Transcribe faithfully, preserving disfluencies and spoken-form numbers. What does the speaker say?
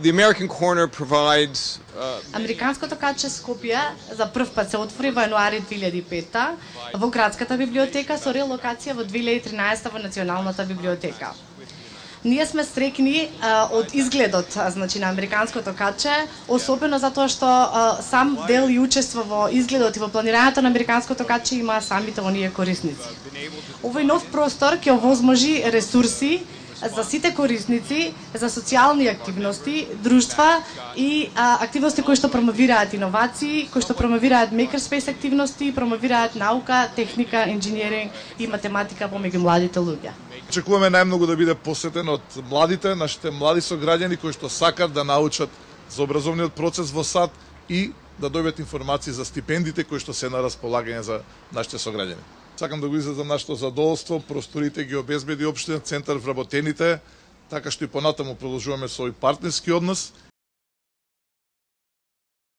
The American Corner provides uh, Американското каче Скопје за прв пат се отвори во јануари две илјади и пета во градската библиотека со релокација во две илјади и тринаесета во Националната библиотека. Ние сме стрекни а, од изгледот, а, значи на американското каче, особено затоа што а, сам дел и учество во изгледот и во планирањето на американското каче има самите оние корисници. Овој нов простор ќе овозможи ресурси за сите корисници, за социјални активности, друштва и а, активности кои што промовираат иновации, кои што промовираат makerspace активности, промовираат наука, техника, инженеринг и математика помеѓу младите луѓе. Очекуваме најмногу да биде посетен од младите, нашите млади сограѓани кои што сакат да научат за образовниот процес во САД и да добијат информации за стипендите кои што се на располагање за нашите сограѓани. Сакам да го изразам нашето задоволство, просторите ги обезбеди општина центар вработените, така што и понатаму продолжуваме со овој партнерски однос